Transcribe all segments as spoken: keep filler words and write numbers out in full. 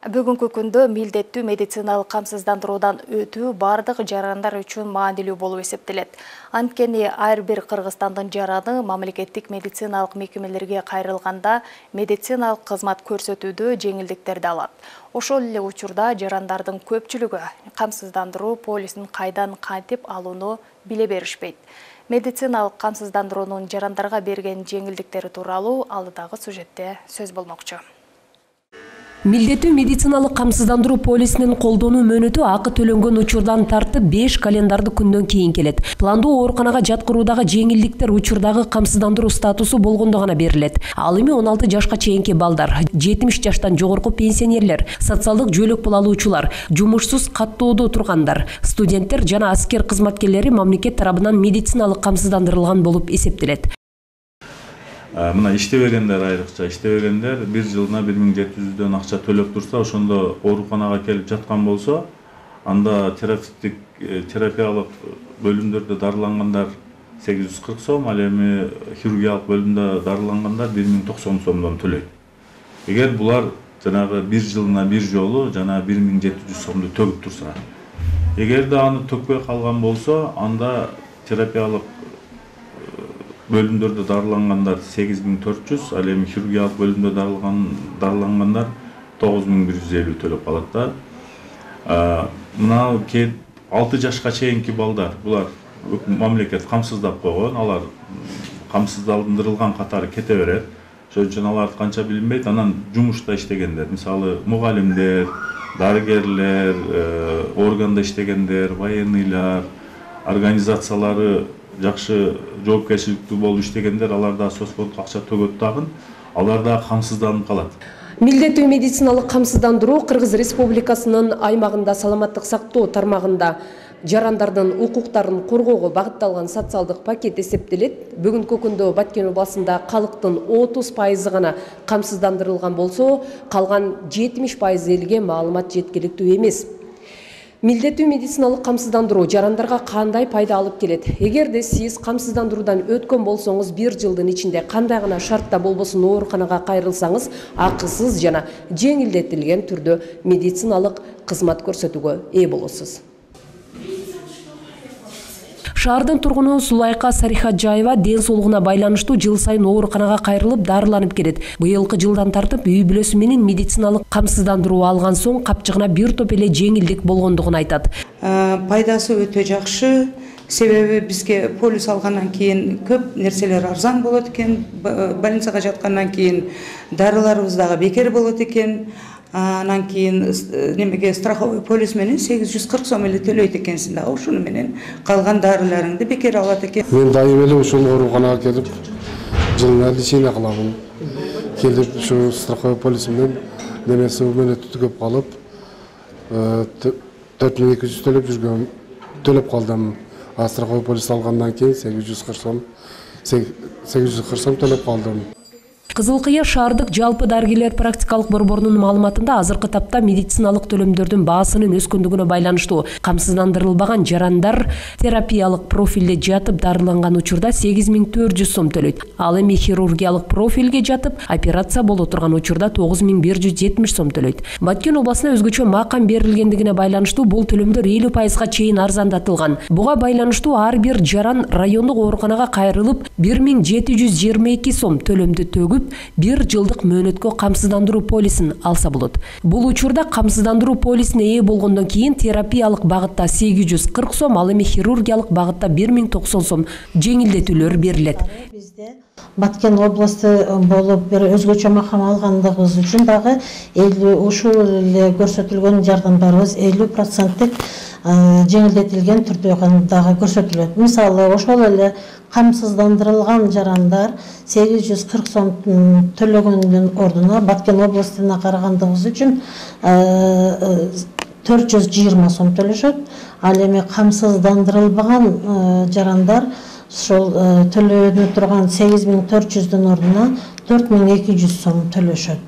Бүгүнкү күндө милдеттүү медициналык камсыздандыруудан өтүү бардык жарандар үчүн маанилүү болуп эсептелет. Анткени ар бир Кыргызстандын жараны мамлекеттик медициналык мекемелерге кайрылганда медициналык кызмат көрсөтүүдө жеңилдиктерди алат. Ошол эле учурда жарандардын көпчүлүгү камсыздандыруу полисин кайдан кантип алууну биле беришпейт. Медициналык камсыздандыруунун жарандарга берген жеңилдиктери тууралуу алдыдагы сюжетте сөз болмокчу. Милдеттүү медициналык камсыздандыруу полисинин колдонуу мөөнөтү акы төлөнгөн учурдан тартып беш календардык күндөн кийин келет. Пландуу ооруканага жаткыруудагы жеңилдиктер учурдагы камсыздандыруу статусу болгондо гана берилет. Ал эми он алты жашка чейинки балдар, жетимиш жаштан жогорку пенсионерлер, социалдык жөлөк пул алуучулар, жумушсуз каттоодо тургандар, студенттер жана аскер кызматкерлери мамлекет тарабынан медициналык камсыздандырылган болуп эсептелет. Мына иштебегендер айрыкча иштебегендер бир жылына бир миң жети жүздөн акча төлөп турса, ошондо ооруканага келип жаткан болсо, анда терапевтик терапиялык бөлүмдөрдө дарылангандар сегиз жүз кырк сом, ал эми хирургиялык бөлүмдө дарылангандар бир миң токсон сомдон төлөйт. Эгер булар жанагы бир жылына бир жолу жана бир миң жети жүз сомду төгүп турса, эгерде аны төкпөй калган болсо, анда терапиялык бөлүмдөрдө дарылангандар сегиз миң төрт жүз, ал эми хирургиялык бөлүмдө дарылангандар тогуз миң бир жүз элүү төлөп калат да. Мына алты жашка чейинки балдар, булар мамлекет камсыздап койгон, алар камсыздандырылган катары кете берет. Ошон үчүн аларды канча билинбейт. Анан жумушта иштегендер, мисалы мугалимдер, дарыгерлер, органда иштегендер, военныйлар, организациялары жакшы жоопкерчиликтүү болуп иштегендер, алар да соцфондко акча төгөт дагы, алар да камсызданып калат. Милдеттүү медициналык камсыздандыруу Кыргыз Республикасынын аймагында саламаттык сактоо тармагында жарандардын укуктарын коргоого багытталган социалдык пакет эсептелет. Бүгүнкү күндө Баткен областында калктын отуз пайызы гана камсыздандырылган болсо, калган жетимиш пайыз элге маалымат жеткиликтүү эмес. Милдеттүү медициналык камсыздандыруу жарандарга кандай пайда алып келет? Эгерде сиз камсыздандыруудан өткөн болсоңуз, бир жылдын ичинде кандай гана шартта болбосун ооруканага кайрылсаңыз, акысыз жана жеңилдетилген түрдө медициналык кызмат көрсөтүүгө ээ болосуз. Шаардын тургуну Сулайка Сарихаджаева ден соолугуна байланыштуу жыл сайын ооруканага кайрылып дарыланып келет. Быйылкы жылдан тартып үй бүлөсү менен медициналык камсыздандыруу алган соң капчыгына бир топ эле жеңилдик болгондугун айтат. Пайдасы өтө жакшы. Себеби бизге полис алгандан кийин көп нерселер арзан болот экен. Больницага жаткандан кийин дарыларыбыз дагы бекер болот экен. Анан кийин немеге страховой полис менен сегиз жүз кырк сом эле төлөйт экенсиң да, ошону менен калган дарыларыңды бекер алат экен. Мен дайым эле ушул ооруканага келип, жылына лечение кылабын. Келип ушу страховой полис менен немеси мөөнөтү түгөп калып, төрт миң эки жүз төлөп жүргөн, төлөп калдым. А страховой полис алгандан кийин сегиз жүз кырк сом, сегиз жүз кырк сом төлөп калдым. Кызыл Кыя шаардык жалпы дарыгерлер практикалык борборунун маалыматында азыркы тапта медициналык төлөмдөрдүн баасынын өскөндүгүнө байланыштуу камсыздандырылбаган жарандар терапиялык профилде жатып дарыланган учурда сегиз миң төрт жүз сом төлөйт. Ал эми хирургиялык профилге жатып операция боло турган учурда тогуз миң бир жүз жетимиш сом төлөйт. Баткен областына өзгөчө макам берилгендигине байланыштуу бул төлөмдөр элүү пайызга чейин арзандатылган. Буга байланыштуу ар бир жаран райондук ооруканага кайрылып бир миң жети жүз жыйырма эки сом төлөмдү төгүп бир жылдык мөөнөткө камсыздандыруу полисин алса болот. Бул учурда камсыздандыруу полисине ээ болгондон кийин терапиялык багытта сегиз жүз кырк сом, ал эми хирургиялык багытта бир миң токсон сом жеңилдетүүлөр берилет. Бизде Баткен областы болуп бир өзгөчө макам алгандыгыбыз үчүн дагы ушул эле көрсөтүлгөн жардамдарыбыз элүү проценттик жеңилдетилген түрдө дагы көрсөтүлөт. Мисалы, ошол эле камсыздандырылган жарандар сегиз жүз кырк сом төлөгөндүн ордуна Баткен областына карагандыгыбыз үчүн төрт жүз жыйырма сом төлөшөт. Ал эми камсыздандырылбаган жарандар ошол төлөнө турган сегиз миң төрт жүздүн ордуна төрт миң эки жүз сом төлөшөт.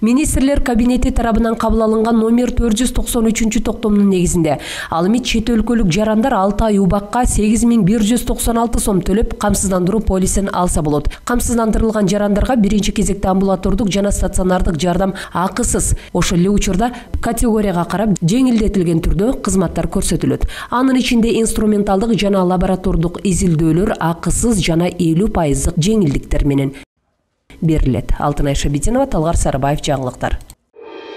Министрлер кабинети тарабынан кабыл алынган номер төрт жүз токсон үчүнчү токтомдун негизинде ал эми чет өлкөлүк жарандар алты ай убакка сегиз миң бир жүз токсон алты сом төлөп камсыздандыруу полисин алса болот. Камсыздандырылган жарандарга биринчи кезекте амбулатордук жана стационардык жардам акысыз, ошол эле учурда категорияга карап жеңилдетилген түрдө кызматтар көрсөтүлөт. Анын ичинде инструменталдык жана лаборатордук изилдөөлөр акысыз жана элүү пайыздык жеңилдиктер менен берилет. Алтынай Шабитинова, Талгар Сарыбаев, жаңылыктар.